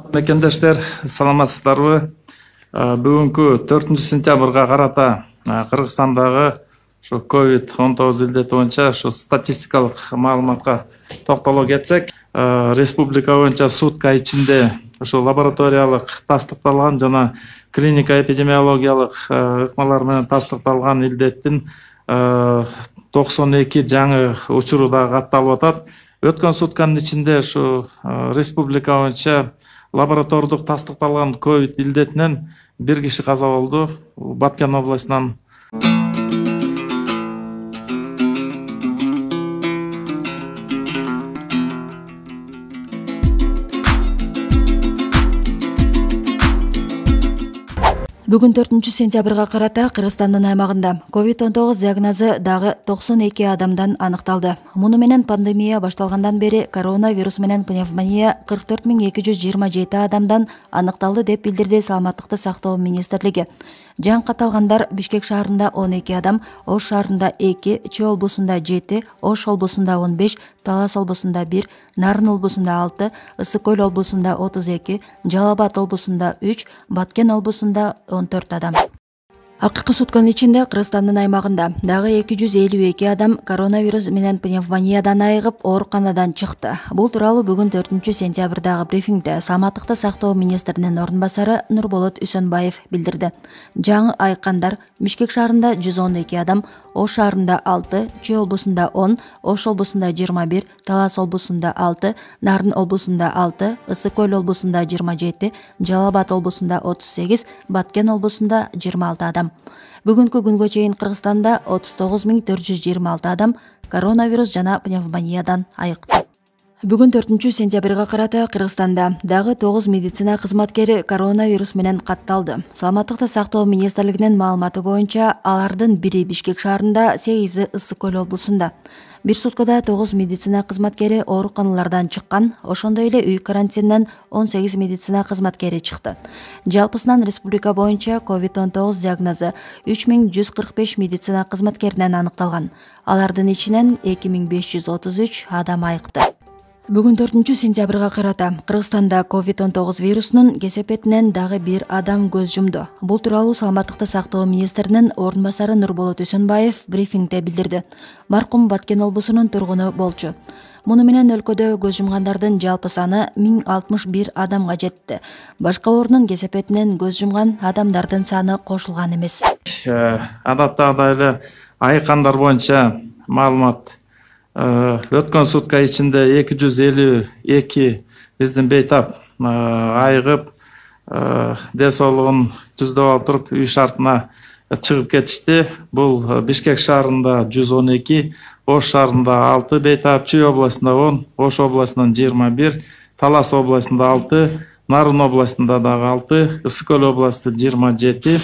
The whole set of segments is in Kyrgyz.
Мекендештер, саламатсыздарбы? Бүгүнкү 4 сентябрга карата Кыргызстандагы COVID-19 илдети боюнча статистикалык маалыматка токтоло кетсек, республика боюнча сутка ичинде лабораториялык тастыкталган жана клиника эпидемиологиялык ыкмалар менен тастыкталган илдеттин 92 жаңы учуру да катталып атат. Өткөн сутканын ичинде республика боюнча лаборатордук тастыкталган ковид илдетинен бир киши каза болду. Баткен областынан. Бүгүн 4 сентябрга карата Кыргызстандын аймагында COVID-19 диагнозу дагы 92 адамдан аныкталды. Муну менен пандемия башталгандан бери коронавирус менен пневмония 44 227 адамдан аныкталды деп билдирди Саламаттыкты сактоо министрлиги. Жаңы катталгандар Бишкек шаарында 12 адам, Ош шаарында 2, Чүй облусунда 7, Ош облусунда 15, Талас облусунда 1, Нарын облусунда 6, Ысык Көл облусунда 32, Жалал Абад облусунда 3, Баткен облусунда 14 адам. Акыркы сутканын ичинде Кыргызстандын аймагында дагы 252 адам коронавирус менен пневмониядан айыгып ооруканадан чыкты. Бул тууралуу бүгүн 4 сентябрдагы брифингде Саламаттыкты сактоо министринин орун басары Нурболот Үсөнбаев билдирди. Жаңы айыккандар Бишкек шаарында 112 адам, Ош шаарында 6, Чүй облусунда 10, Ош облусунда 21, Талас облусунда 6, Нарын облусунда 6, Ысык Көл облусунда 27, Жалал Абад облусунда 38, Баткен облусунда 26 адам. Бүгүнкү күнгө чейин Кыргызстанда 39 426 адам коронавирус жана пневмониядан айыкты. Бүгүн 4 сентябрга карата Кыргызстанда дагы 9 медицина кызматкери коронавирус менен катталды. Саламаттыкты сактоо министрлигинин маалыматы боюнча алардын бири Бишкек шаарында, 8 Ысык Көл облусунда. Бир суткада 9 медицина кызматкери ооруканалардан чыккан, ошондой эле үй карантининен 18 медицина кызматкери чыкты. Жалпысынан республика боюнча COVID-19 диагнозу 3145 медицина кызматкеринен аныкталган. Алардын ичинен 2533 адам айыкты. Бүгүн 4 сентябрга карата Кыргызстанда COVID-19 вирусунун кесепетинен дагы бир адам көз жумду. Бул тууралуу Саламаттыкты сактоо министринин орун басары Нурболот Үсөнбаев брифингде билдирди. Маркум Баткен облусунун тургуну болчу. Муну менен өлкөдө көз жумгандардын жалпы саны 1061 адамга жетти. Башка оорунун кесепетинен көз жумган адамдардын саны кошулган эмес. Адаттагыдай эле айыккандар боюнча маалымат өткөн сутка ичинде 252 биздин бейтап айыгып ден соолугун түздөп алып туруп үй шартына чыгып кетишти. Бул Бишкек шаарында 112, Ош шаарында 6 бейтап, Чүй областында 10, Ош областынан 21, Талас областында 6, Нарын областында дагы 6, Ысык Көл областында 27,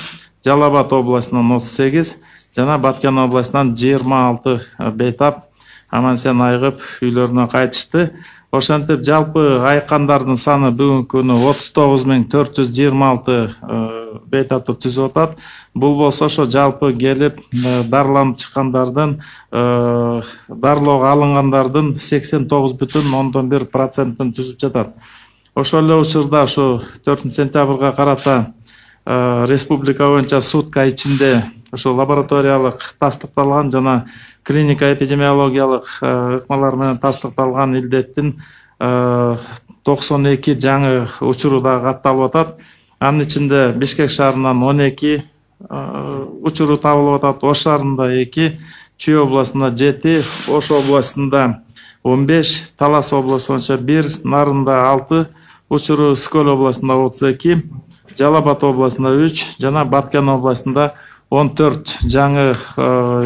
Жалал Абад областынан 38 жана Баткен областынан 26 бейтап аман-сен айыгып үйлөрүнө кайтышты. Ошентип жалпы айыккандардын саны бүгүнкү күнү 39 426 бейтапты түзүп атат. Бул болсо ошо жалпы келип дарыланып чыккандардын дарылоого алынгандардын 89,1%-ын түзүп жатат. Ошол эле учурда 4 сентябрга карата республика боюнча сутка ичинде лабораториялык тастыкталган жана клиника эпидемиологиялык ыкмалар менен тастыкталган илдеттин 92 жаңы учуру да катталып атат. Анын ичинде Бишкек шаарынан 12 учуру табылып атат, Ош шаарында 2, Чүй областында 7, Ош областында 15, Талас облусунда 1, Нарында 6 учуру, Ысык Көл областында 32, Жалал Абад областында 3 жана Баткен областында 14 жаңы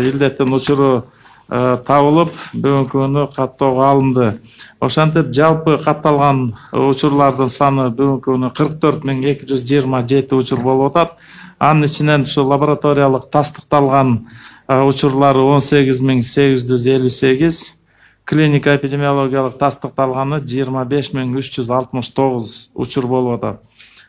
илдеттин учуру табылып, бүгүнкү күнү каттоого алынды. Ошентип жалпы катталган учурлардын саны бүгүнкү күнү 44 227 учур болуп атат. Анын ичинен лабораториялык тастыкталган учурлары 18 858, клиника эпидемиологиялык тастыкталганы 25 369 учур болуп атат.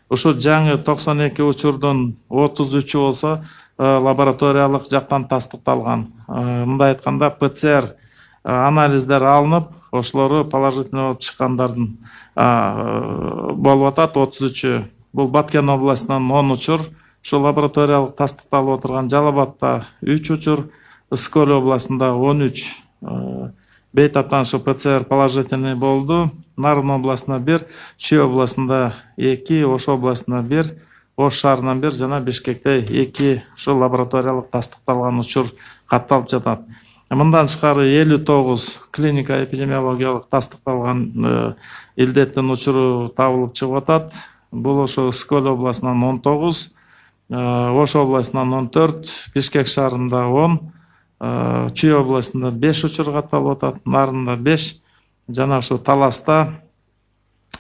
Ушул жаңы 92 учурдун 33-ü болсо лабораториялык жактан тастыкталган. Мындай айтканда ПЦР анализдер алынып, ошолору положительный болуп чыккандардын болуп атат. 33-ü бул Баткен областынан 10 учур, ошо лабораториялык тастыкталып отурган. Жалал Абадта 3 учур, Ысык-Көл областында 13 бейтаптан ошо ПЦР положительный болду. Нарын областында 1, Чүй областында 2, Ош областында 1, Ош шаарынан 1 жана Бишкекте 2 ошо лабораториялык тастыкталган учур катталып жатат. Мындан тышкары 59 клиника эпидемиологиялык тастыкталган илдеттин учуру табылып чыгып атат. Бул ошо Ысык-Көл областынан 19, Ош областынан 14, Бишкек шаарында 10, Чүй областында 5 учур катталып атат, Нарында 5 жана ошо Таласта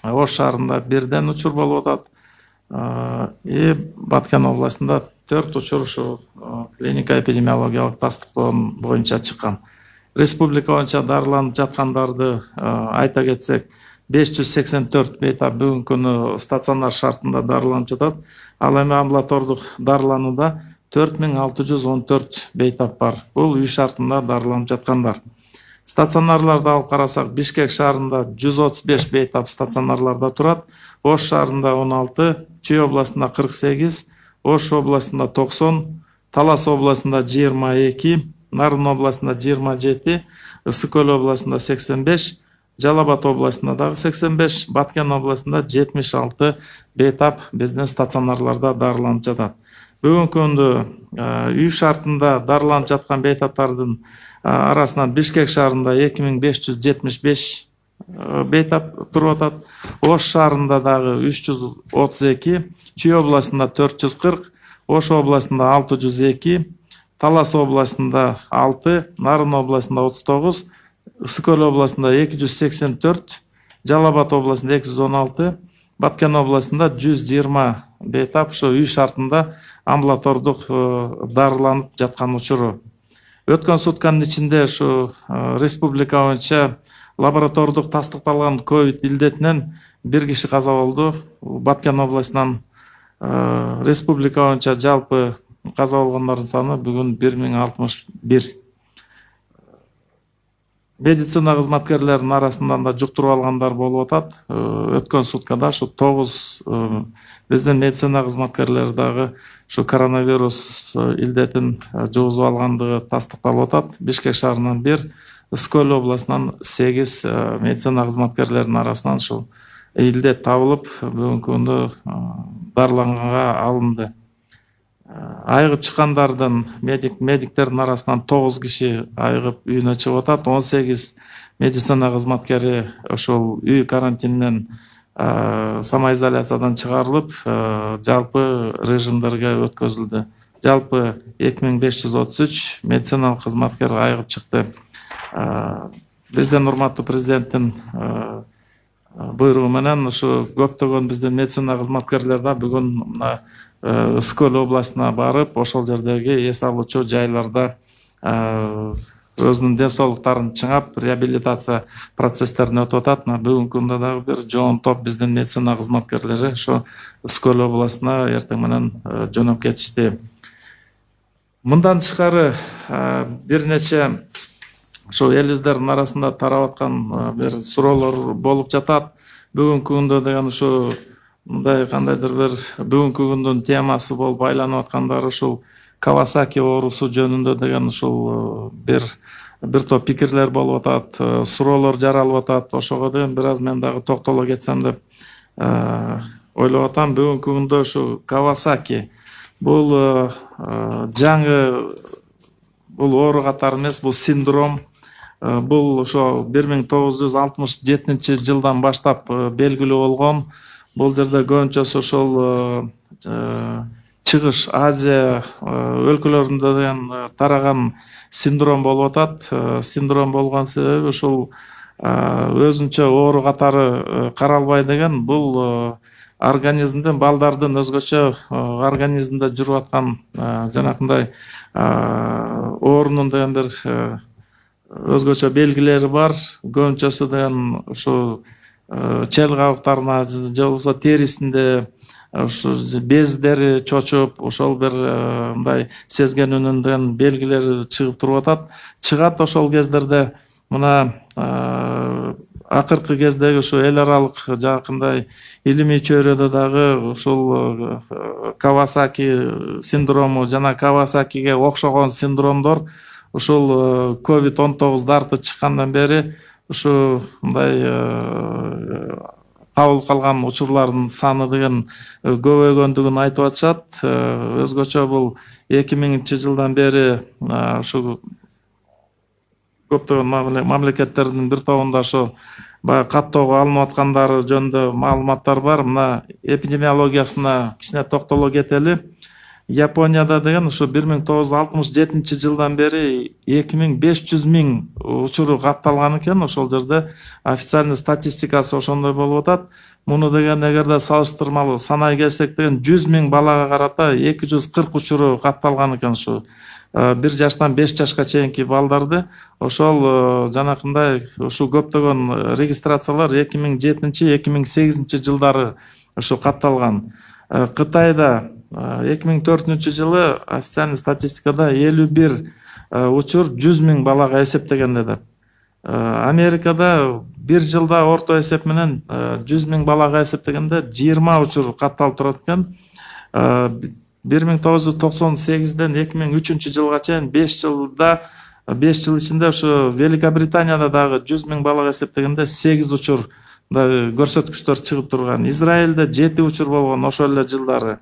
Ош шаарында 1ден учур болуп атат. Баткен областында 4 учур ошо клиника эпидемиологиялык тастыктоо боюнча чыккан. Республика боюнча дарыланып жаткандарды айта кетсек, 584 бейтап бүгүнкү күнү стационар шартында дарыланып жатат. Ал эми амбулатордук дарыланууда 4614 бейтап бар. Бул үй шартында дарыланып жаткандар. Стационарларды алып карасак, Бишкек шаарында 135 бейтап стационарларда турат. Ош шаарында 16, Чүй областында 48, Ош областында 90, Талас областында 22, Нарын областында 27, Ысык-Көл областында 85, Жалал Абад областында дагы 85, Баткен областында 76 бейтап биздин стационарларда дарыланып жатат. Бүгүнкү күндө үй шартында дарыланып жаткан бейтаптардын арасынан Бишкек шаарында 2575 бейтап туруп атат. Ош шаарында дагы 332, Чүй областында 440, Ош областында 602, Талас областында 6, Нарын областында 39, Ысык-Көл областында 284, Жалал Абад областында 216, Баткен областында 120 бейтап ошо үй шартында амбулатордук дарыланып жаткан учуру. Өткөн сутканын ичинде ошо республика боюнча лаборатордук тастыкталган ковид илдетинен 1 киши каза болду. Баткен областынан республика боюнча жалпы каза болгондордун саны бүгүн 1061. Медицина кызматкерлеринин арасынан да жуктуруп алгандар болуп атат. Өткөн суткада ошо 9 биздин медицина кызматкерлери дагы ошо коронавирус илдетин жугузуп алгандыгы тастыкталып атат. Бишкек шаарынан 1, Ысык-Көл областынан 8 медицина кызматкерлеринин арасынан ушул илдет табылып, бүгүнкү күндө дарыланганга алынды. Айыгып чыккандардын медиктердин арасынан 9 киши айыгып үйүнө чыгып атат. 18 медицина кызматкери ошол үй карантининен самоизоляциядан чыгарылып, жалпы режимдерге өткөзүлдү. Жалпы 2533 медициналык кызматкер айыгып чыкты. Биздин урматтуу президенттин буйругу менен ушу көптөгөн биздин медицина кызматкерлери да бүгүн Ысык-Көл областына барып, ошол жердеги эс алуучу жайларда өзүнүн ден соолуктарын чыңап, реабилитация процесстерин өтүп атат. Бүгүнкү күндө дагы бир жоон топ биздин медицина кызматкерлери ошо Ысык-Көл областына эртең менен жөнөп кетишти. Мындан тышкары бир нече ошо элибиздин арасында тарап аткан бир суроолор болуп жатат. Бүгүнкү күндө деген ошо мындай кандайдыр бир бүгүнкү күндүн темасы болуп айланып аткандары ушул Кавасаки оорусу жөнүндө деген ушул бир топ пикирлер болуп атат, суроолор жаралып атат. Ошого деген бир аз мен дагы токтоло кетсем деп ойлоп атам. Бүгүнкү күндө ушу Кавасаки бул жаңы бул оору катары эмес, бул синдром. Бул ошо 1967 жылдан баштап белгилүү болгон. Бул жерде көбүнчөсү ошол Чыгыш Азия өлкөлөрүндө деген тараган синдром болуп атат. Синдром болгон себеби ушул өзүнчө оору катары каралбай деген, бул организмдин, балдардын өзгөчө организмде жүрүп аткан жанакындай оорунун деген бир өзгөчө белгилери бар. Көбүнчөсү деген ушу чел кабыктарына же болбосо терисинде ушу бездери чочуп, ошол бир мындай сезгенүүнүн белгилери чыгып туруп атат. Чыгат ошол кездерде мына акыркы кездеги ушу эл аралык жакындай илимий чөйрөдө дагы ушул Кавасаки синдрому жана Кавасакиге окшогон синдромдор ушул COVID-19 дарты чыккандан бери ушу мындай табылып калган учурлардын саны деген көбөйгөндүгүн айтып атышат. Өзгөчө бул 2000-жылдан бери ушу көптөгөн мамлекеттердин бир тобунда ошо баягы каттоого алынып аткандары жөнүндө маалыматтар бар. Мына эпидемиологиясына кичине токтоло кетели. Японияда деген ушу 1967-жылдан бери 2500 миң учуру катталган экен. Ошол жерде официальный статистикасы ошондой болуп атат. Муну деген эгерде салыштырмалуу санай келсек деген 100 миң балага карата 240 учуру катталган экен. Ушу 1 жаштан 5 жашка чейинки балдарды ошол жанакындай ушу көптөгөн регистрациялар 2007-2008 жылдары ушу катталган. Кытайда 2004-жылы официальный статистикада 51 учур 100 миң балага эсептегенде деп. Америкада бир жылда орто эсеп менен 100 миң балага эсептегенде 20 учур катталып турат экен. 1998-ден 2003 жылга чейин 5 жыл ичинде ушу Великобританияда дагы 100 миң балага эсептегенде 8 учур көрсөткүчтөр чыгып турган. Израилде 7 учур болгон ошол эле жылдары.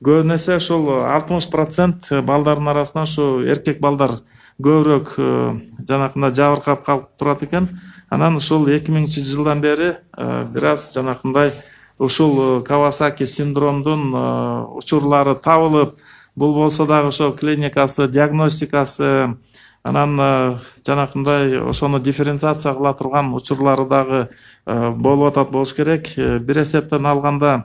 Көбүн эсе ошол 60% балдардын арасынан ушу эркек балдар көбүрөөк жанакындай жабыркап калып турат экен. Анан ушул 2000-жылдан бери бир аз жанакындай ушул Кавасаки синдромдун учурлары табылып, бул болсо дагы ошо клиникасы, диагностикасы, анан жанакындай ошону дифференциация кыла турган учурлары дагы болуп атат болуш керек. Бир эсептен алганда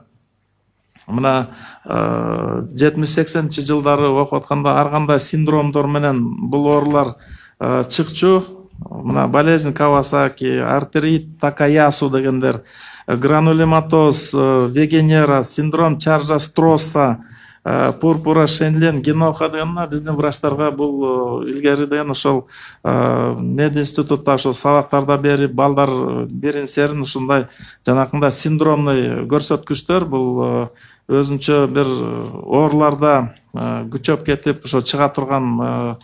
мына 70-80 жылдары окуп атканда ар кандай синдромдор менен бул оорулар чыкчу. Мына болезнь Кавасаки, артерит Такаясу дегендер, гранулематоз, вегенера, синдром Чарджа-Стросса, пурпура Шенлен, геноха деген биздин врачтарга бул илгери деген ошол мединститутта ошол сабактарда берип балдар берин серин ушундай жанакындай синдромный көрсөткүчтөр бул өзүнчө бир ооруларда күчөп кетип ошо чыга турган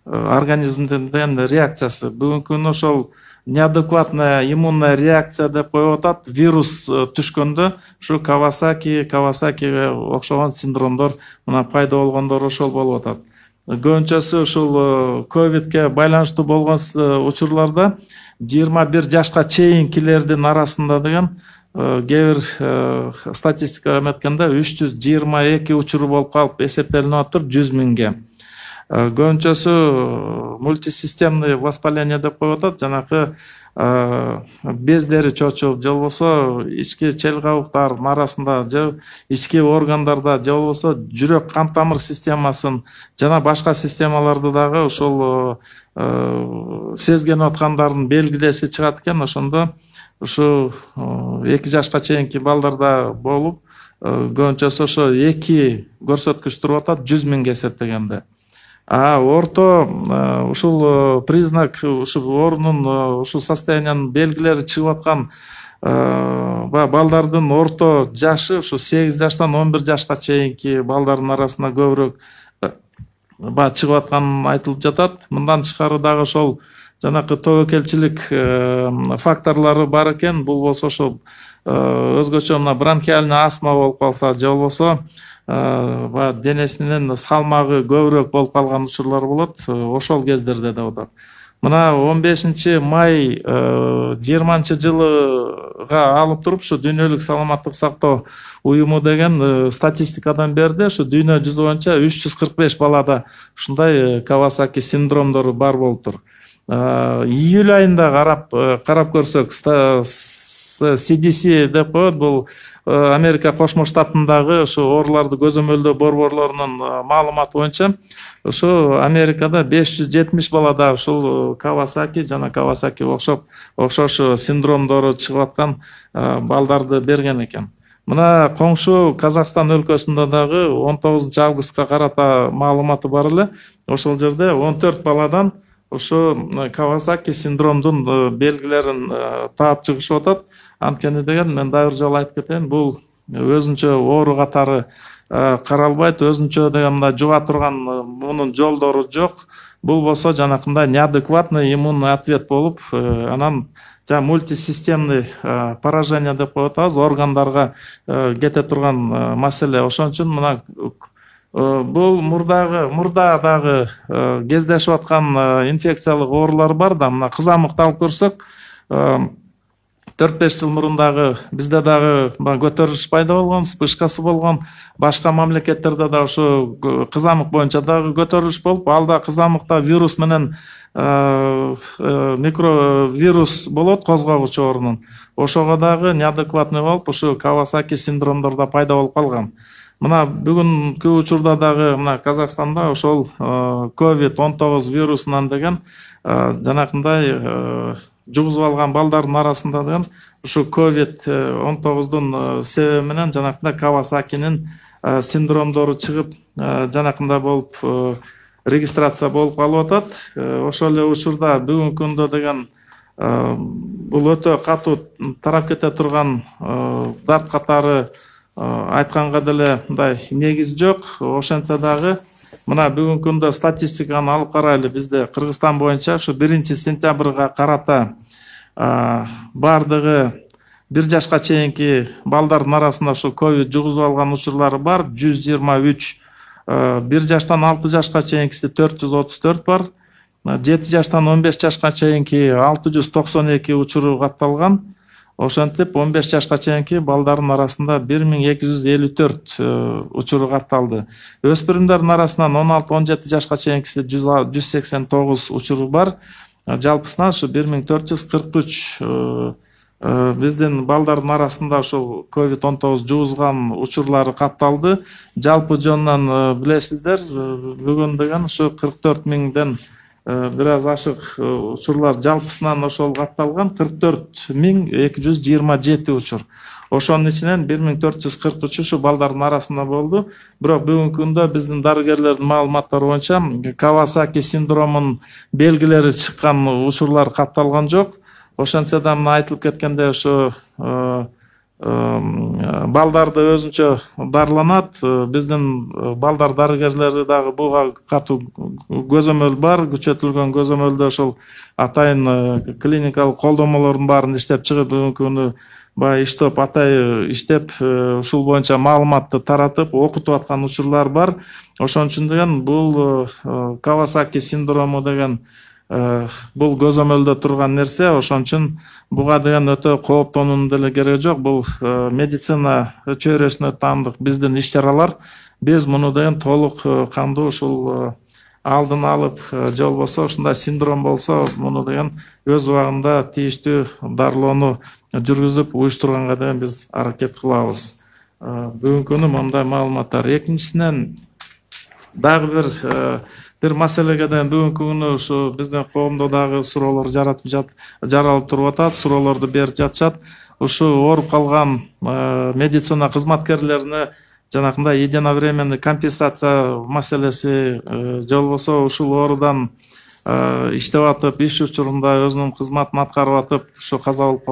организмдин реакциясы. Бүгүнкү күнү ошол неадекватная иммунная реакция деп коюп атат. Вирус түшкөндө ушу Кавасакиге окшогон синдромдор мына пайда болгондор ошол болуп атат. Көбүнчөсү ушул ковидке байланыштуу болгон учурларда 21 жашка чейинкилердин арасында деген кээ бир статистикага эметкенде 322 учуру болуп калып эсептелинип атыр 100 миңге. Көбүнчөсү мультисистемный воспаление деп коюп атат. Жанакы бездери чочуп, же болбосо ички чел кабыктардын арасында, же ички органдарда, же болбосо жүрөк кан тамыр системасын жана башка системаларды дагы ошол сезген аткандардын белгилеси чыгат экен. Ошондо ушу 2 жашка чейинки балдарда болуп, көбүнчөсү ошо 2 көрсөткүч туруп атат 100 миңге эсептегенде. Орто ушул признак, ушул оорунун ушул состояниянын белгилери чыгып аткан балдардын орто жашы ушу 8 жаштан 11 жашка чейинки балдардын арасында көбүрөөк чыгып аткан айтылып жатат. Мындан тышкары дагы ошол жанакы тобокелчилик факторлору бар экен. Бул болсо ошол өзгөчө мына бронхиальный астма болуп калса, же болбосо денесинин салмагы көбүрөөк болуп калган учурлар болот. Ошол кездерде да болот. Мына 15 май 20-жылыга алып туруп ушу Дүйнөлүк саламаттык сактоо уюму деген статистикадан берди. Ушу дүйнө жүзү боюнча 345 балада ушундай Кавасаки синдромдору бар болуптур. Июль айында карап көрсөк, CDC деп коет, бул Америка Кошмо Штатындагы ушу ооруларды көзөмөлдөө борборлорунун маалыматы боюнча ушу Америкада 570 балада ушул Кавасаки жана Кавасаки окшош синдромдору чыгып аткан балдарды берген экен. Мына коңшу Казакстан өлкөсүндө дагы 19 августка карата маалыматы бар эле. Ошол жерде 14 баладан ушу Кавасаки синдромдун белгилерин таап чыгышып атат. Анткени деген мен дагы бир жолу айтып кетейин, бул өзүнчө оору катары каралбайт, өзүнчө деген мындай жуга турган мунун жолдору жок. Бул болсо жанакындай неадекватный иммунный ответ болуп, анан мультисистемный поражение деп коюп атабыз, органдарга кете турган маселе. Ошон үчүн мына бул мурда дагы кездешип аткан инфекциялык оорулар бар да, мына кызамыкты алып көрсөк, 4-5 жыл мурун дагы бизде дагы көтөрүлүш пайда болгон, вспышкасы болгон. Башка мамлекеттерде да ушу кызамык боюнча дагы көтөрүлүш болуп, ал да кызамыкта вирус менен микровирус болот, козгогуч оорунун. Ошого дагы неадекватный болуп, ушу Кавасаки синдромдорда пайда болуп калган. Мына бүгүнкү учурда дагы мына Казакстанда ошол COVID-19 вирусунан деген жанакындай жугузуп алган балдардын арасында деген ушу COVID-19дун себеби менен жанакындай Кавасакинин синдромдору чыгып, жанакындай болуп регистрация болуп калып атат. Ошол эле учурда бүгүнкү күндө деген бул өтө катуу тарап кете турган дарт катары айтканга деле мындай негиз жок. Ошентсе дагы мына бүгүнкү күндө статистиканы алып карайлы. Бизде Кыргызстан боюнча ушу 1-сентябрга карата бардыгы 1 жашка чейинки балдардын арасында ушу ковид жугузуп алган учурлары бар, 123. 1 жаштан 6 жашка чейинкиси 434 бар. 7 жаштан 15 жашка чейинки 692 учуру катталган. Ошентип 15 жашка чейинки балдардын арасында 1254 учуру катталды. Өспүрүмдөрдүн арасынан 16-17 жашка чейинкиси 189 учуру бар. Жалпысынан ушу 1443 биздин балдардын арасында ошол COVID-19 жугузган учурлары катталды. Жалпы жонунан билесиздер, бүгүн деген ушу 44 миңден бир аз ашык учурлар жалпысынан ошол катталган, 44.227 учур. Ошонун ичинен 1443 ушу балдардын арасында болду. Бирок бүгүнкү күндө биздин дарыгерлердин маалыматтары боюнча Кавасаки синдромунун белгилери чыккан учурлар катталган жок. Ошентсе да мына айтылып кеткенде ушу балдарды өзүнчө дарыланат. Биздин балдар дарыгерлери дагы буга катуу көзөмөл бар. Күчөтүлгөн көзөмөлдө ошол атайын клиникалык колдомолордун баарын иштеп чыгып, бүгүнкү күнү баягы иштеп атайын иштеп ушул боюнча маалыматты таратып, окутуп аткан учурлар бар. Ошон үчүн деген бул Кавасаки синдрому деген бул көзөмөлдө турган нерсе. Ошон үчүн буга деген өтө кооптонуунун деле кереги жок. Бул медицина чөйрөсүнө таандык биздин иш-чаралар. Биз муну деген толук кандуу ушул алдын алып, же болбосо ушундай синдром болсо, муну деген өз убагында тийиштүү дарылоону жүргүзүп, уюштурганга деген биз аракет кылабыз. Бүгүнкү күнү мындай маалыматтар. Экинчисинен дагы бир маселеге деген бүгүнкү күнү ушу биздин коомдо дагы суроолор жаралып туруп атат, суроолорду берип жатышат. Ушу ооруп калган медицина кызматкерлерине жанакындай единовременный компенсация маселеси, же болбосо ушул оорудан иштеп атып, иш учурунда өзүнүн кызматын аткарып атып, ушу каза болуп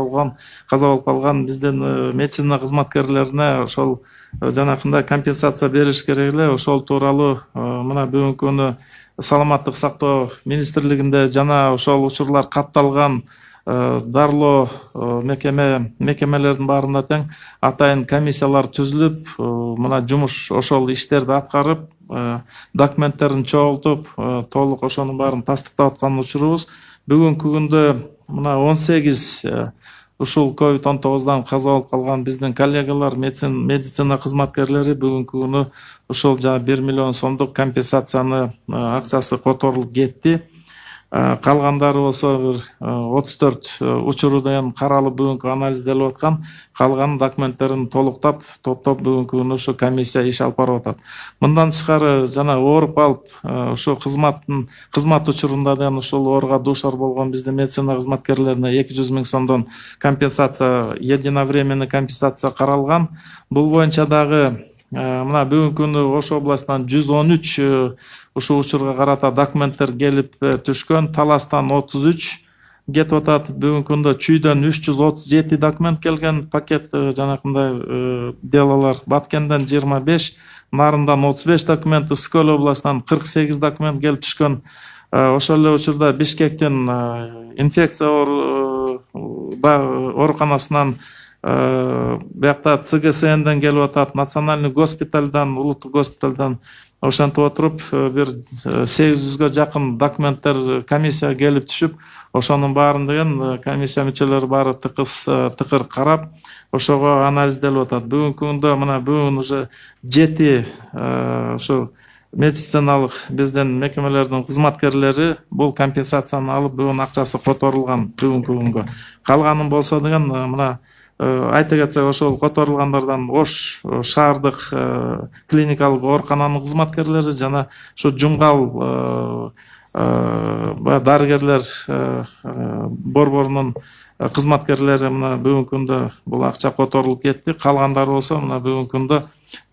калган биздин медицина кызматкерлерине ошол жанакындай компенсация бериш керек эле. Ошол тууралуу мына бүгүнкү күнү Саламаттык сактоо министрлигинде жана ошол учурлар катталган дарылоо мекемелердин баарында тең атайын комиссиялар түзүлүп, мына жумуш ошол иштерди аткарып, документтерин чогултуп, толук ошонун баарын тастыктап аткан учурубуз. Бүгүнкү күндө мына 18 ушул COVID-19дан каза болуп калган биздин коллегалар, медицина кызматкерлери бүгүнкү күнү ушул 1 миллион сомдук компенсацияны акчасы которулуп кетти. Калгандары болсо 34 учуру деген каралып бүгүнкү анализделип аткан. Калган документтерин толуктап, топтоп бүгүнкү күнү ушу комиссия иш алып барып атат. Мындан тышкары жана ооруп калып, ушу кызмат учурунда деген ушул ооруга дуушар болгон биздин медицина кызматкерлерине 200 миң сомдон компенсация, единовременный компенсация каралган. Бул боюнча дагы мына бүгүнкү күндө Ош областынан 113 ушул учурга карата документтер келип түшкөн. Таластан 33 кетип атат. Бүгүнкү күндө Чүйдөн 337 документ келген, пакет жанакындай делолор. Баткенден 25, Нарындан 35 документ, Ысык Көл областынан 48 документ келип түшкөн. Ошол эле учурда Бишкектин инфекция ооруканасынан, биякта ЦГСНден келип атат, национальный госпитальдан, улуттук госпитальдан. Ошентип отуруп бир 800гө жакын документтер комиссия келип түшүп, ошонун баарын деген комиссия мүчөлөрү баары тыкыр карап, ошого анализделип атат. Бүгүнкү күндө мына бүгүн уже 7 ушу медициналык биздин мекемелердин кызматкерлери бул компенсацияны алып, бүгүн акчасы которулган бүгүнкү күнгө. Калганын болсо деген мына айта кетсек, ошол которулгандардан Ош шаардык клиникалык оорукананын кызматкерлери жана ушу Жумгал дарыгерлер борборунун кызматкерлери мына бүгүнкү күндө бул акча которулуп кетти. Калгандары болсо мына бүгүнкү күндө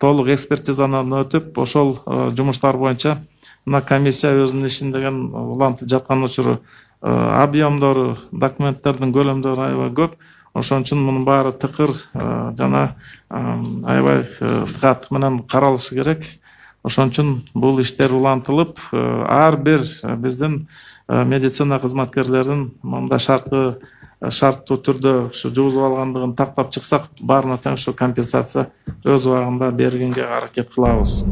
толук экспертизадан өтүп, ошол жумуштар боюнча мына комиссия өзүнүн ишин деген улантып жаткан учуру. Объемдору, документтердин көлөмдөрү аябай көп. Ошон үчүн мунун баары тыкыр жана аябай диккат менен каралышы керек. Ошон үчүн бул иштер улантылып, ар бир биздин медицина кызматкерлерин мындай шарттуу түрдө ушу жугузуп алгандыгын тактап чыксак, баарына тең ушу компенсация өз убагында бергенге аракет кылабыз.